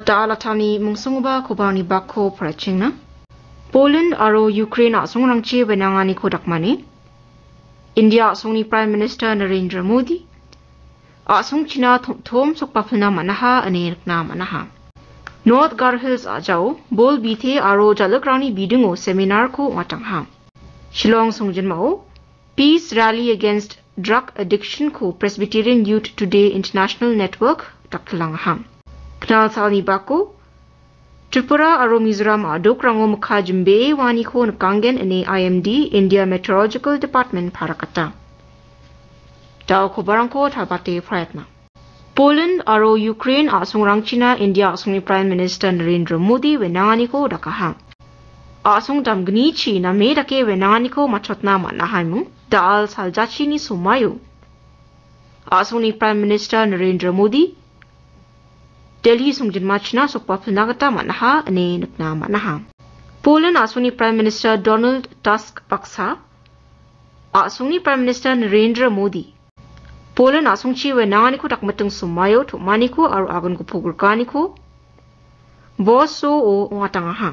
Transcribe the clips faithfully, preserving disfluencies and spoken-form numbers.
Da·alatani mungsonggipa kobarni bakko parachengna. Poland aro Ukraine a·songrangchi wenanganiko dakmani India a·songni Prime Minister Narendra Modi a·songchina tom-, tom sokbapilna man·aha ine nikna man·aha. North Garo Hills a·jao bol bite aro jal·ikrangni bidingo seminarko ong·atangaha. Shillong songjinmao Peace Rally Against Drug Addiction-ko Presbyterian Youth Today International Network daktilangaha. Knal salni bako Tripura aro Mizoram a·dokrango mikka jimbee waaniko nikanggen ine I M D, India Meteorological Department, parakata. Da·o kobarangko talbate prayatna. Poland aro Ukraine a·songrangchina India a·songni Prime Minister Narendra Modi wenanganiko dakaha. A·song damgnichi name dake wenanganiko matchotna man·ahaiming, da·al saljachini somaio a·songni Prime Minister Narendra Modi Delhi songjinmachina sokbapilna gita man·aha ine nikna man·aha. Poland a·songni Prime Minister Donald Tusk baksa a·songni Prime Minister Narendra Modi Poland a·songchi wenanganiko dakmiting somaio tom·aniko aro agan gipok rikaniko Warsaw-o ong·atangaha.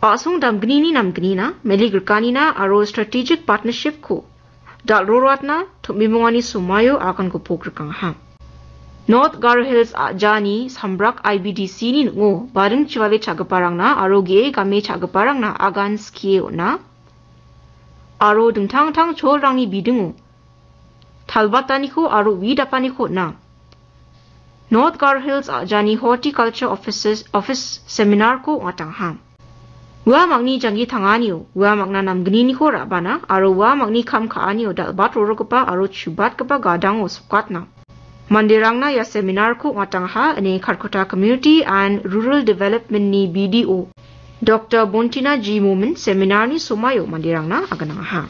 A·song damgnini namgnina, meli grikanina aro strategic partnership-ko dal·roroatna tom·bimongani somaio agan gipok rikangaha. North Garo Hills a·jani Sambrak I B D C-ni ning·o baring chivale cha·giparangna aro ge·e game cha·giparangna agan skie on·a aro dingtang dingtang cholrangni bidingo talbataniko aro wi dapaniko on·a. North Garo Hills a·jani Horticulture Offices, Office Seminar-ko ong·atangaha. Ua mangni janggi tanganio, ua mangna namgniniko ra·bana aro ua mangni kam ka·anio dal·bat rorogipa aro chubatgipa gadango sokatna manderangna ia seminar-ko ong·atangaha ine Kharkutta Community and Rural Development-ni B D O Doctor Bontina G Momin seminar-ni somaio manderangna aganangaha.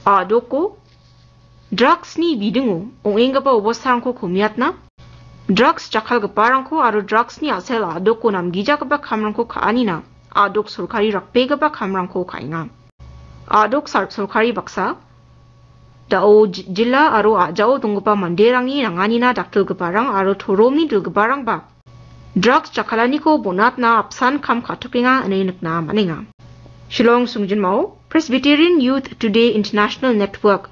A·doko drugs-ni bidingo ong·enggipa obostarangko komiatna, drugs jakkalgiparangko aro drugs-ni a·sel a·doko namgijagipa kamrangko ka·anina a·dok sorkari rakbegipa kamrangko ka·enga. A·dok sar-, sorkari baksa, da·o ji-, jilla aro a·jao donggipa manderangni nanganina dakdilgiparang aro toromni dilgiparangba drugs jakkalaniko bonatna apsan kam ka·tokenga ine nikna man·enga. Shillong songjinmao Presbyterian Youth Today International Network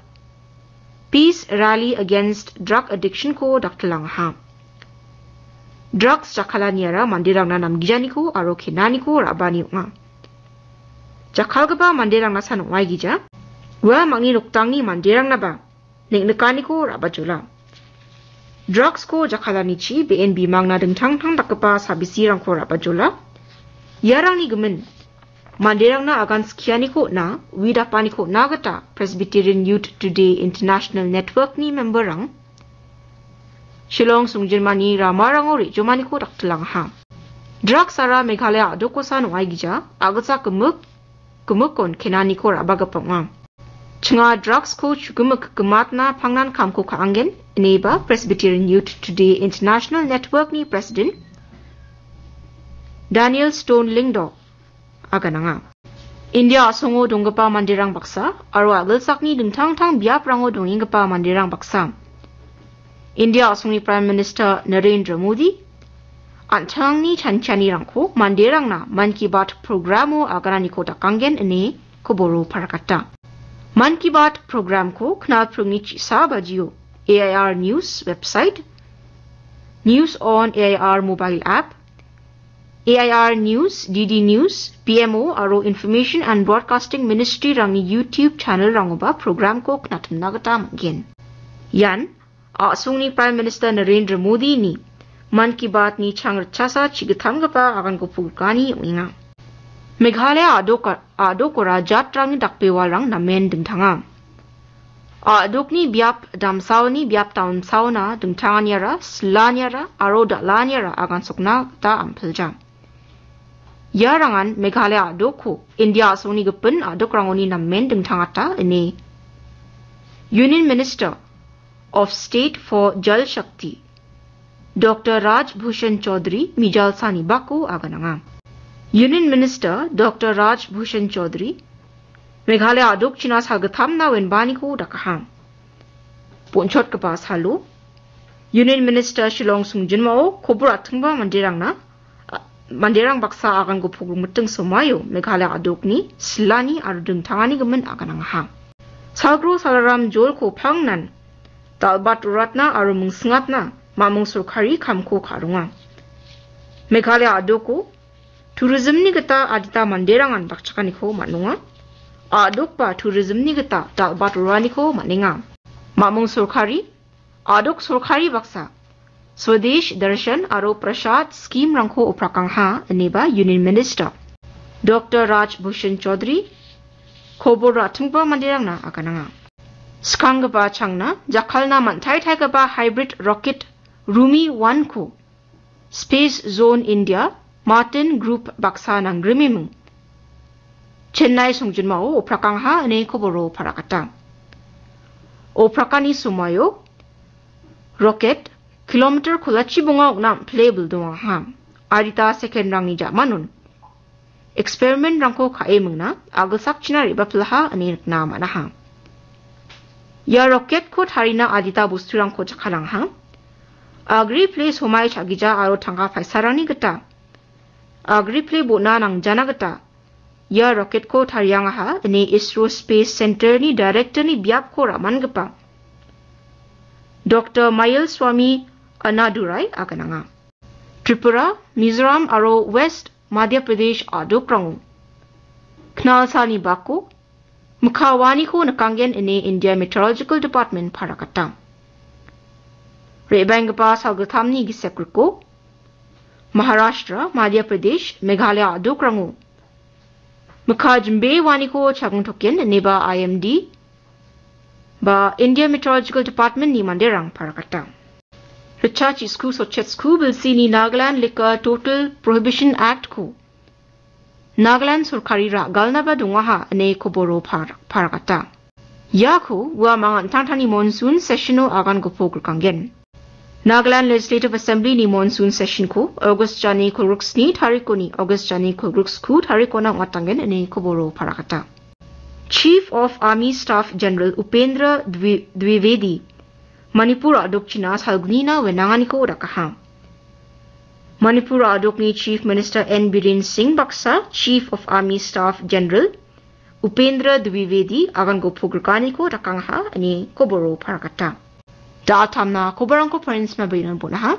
Peace Rally Against Drug Addiction-ko daktilangaha. Drugs jakkalaniara manderangna namgijaniko aro kenaniko ra·bani ong·a. Jakkalgipa manderangna san ong·aigija, ua mangni noktangni manderangnaba neng·nikaniko ra·bajola. Drugs-ko jakkalanichi be·en bimangna dingtang dingtang dakgipa sabisirangko ra·bajola. Iarangni gimin, manderangna agan skianiko on·a, wi dapaniko on·a gita Presbyterian Youth Today International Network-ni member-rang Shillong songjinmani ramarango re·jomaniko daktilangaha. Drugs-ara Meghalaya a·dokosan ong·aigija, a·gitchak gimik, gimikon kenaniko ra·bagipa ong·a. Chinga drugs-ko chugimik gimatna pangnan kamko ka·angen, ineba Presbyterian Youth Today International Network-ni president Daniel Stone Lyngdoh agananga. India a·songo donggipa manderang baksa aro a·gilsakni dingtang dingtang biaprango dongenggipa manderang baksa. India a·songni Prime Minister Narendra Modi an·tangni chanchianirangko manderangna Mann Ki Baat programo agananiko dakanggen ine koboro parakata. Mann Ki Baat programko knalpringni chisa bajio A I R News website, News on A I R mobile app, A I R News, D D News, P M O aro Information and Broadcasting Ministry-rangni YouTube channel-rangoba programko knatimna gita man·gen. Ian a·songni Prime Minister Narendra Modi-ni Mann Ki Baat-ni chang ritchasa chi·gittamgipa aganko pogikani ong·enga. Meghalaya a·doka-, a·dokora jatrangni dakbewalrang namen dingtanga. A·dokni biap damsaoni biap damsaona dingtanganiara, silaniara aro dal·aniara agansokna gita ampilja. Iarangan Meghalaya a·dokko India a·songni gipin a·dokrangoni namen dingtangata ine Union Minister of State for Jal Shakti, Doctor Raj Bhushan Chaudhary mijalsani bako agananga. Union Minister Doctor Raj Bhushan Chaudhary Meghalaya a·dokchina salgittamna wenbaniko dakaha. Bonchotgipa salo, Union Minister Shillong songjinmao kobor atingba manderangna manderang baksa agango pogrimgiting somaio Meghalaya a·dokni silani aro dingtangani gimin aganangaha. Salgro Salaram Jolko pangnan dal·bat roratna aro mingsingapna mamung sorkari kamko ka·ronga. Meghalaya a·doko tourismni gita adita manderangan dakchakaniko man·onga. A·dokba tourismni gita dal·bat roraniko man·enga. Mamung sorkari, a·dok sorkari baksa Swadesh Darshan aro Prasad scheme-rangko oprakangaha, ineba Union Minister Doctor Raj Bhushan Chaudhary kobor ra·chonggipa manderangna agananga. Skanggipa changna jakkalna man·taitaigipa hybrid rocket Rumi one-ko Space Zone India Martin Group baksa nangrimiming Chennai songjinmao oprakangaha ine koboro parakata. Oprakani somoio rocket kilometer kolachi bonga ong·na am·pile bildongaha. Adita second-rangni ja·manon experiment-rangko ka·e mingna agilsakchina re·bapilaha ine nikna man·aha. Ia rocket-ko tarina adita bosturangko jakkalangaha. Agri pile somai cha·gija aro tangka paisarangni gita agri pile bon·a nangjana gita ia rocket-ko tariangaha ine ISRO Space Center-ni director-ni biapko ra·mangipa Doctor Mayilswamy Annadurai agananga. Tripura, Mizoram aro West Madhya Pradesh a·dokrango knalsani bako mikkawaniko nikanggen ine India Meteorological Department parakata. Re·baenggipa salgittamni gisekriko Maharashtra, Madhya Pradesh, Meghalaya a·dokrango mikka jimbewaniko chagingtoken ineba I M D ba India Meteorological Department-ni manderang parakata. Ritchasku sotchesku bilsini Nagaland Liquor Total Prohibition Act-ko Nagaland sorkari ra·galnaba dongaha ine koboro par-, parakata. Iako ua mangan tangtangni monsoon session-o agan gopok rikangen. Nagaland Legislative Assembly-ni monsoon session-ko August jani kolgriksni tarikoni August jani kolgriksku tarikona ong·atanggen ine koboro parakata. Chief of Army Staff General Upendra Dwi-, Dwivedi Manipur a·dokchina salgnina wenanganiko dakaha. Manipur a·dokni Chief Minister N Biren Singh baksa Chief of Army Staff General Upendra Dwivedi agango pogrikaniko dakangaha ine koboro parakata. Da·altamna koborangko parinsma berinan bonaha.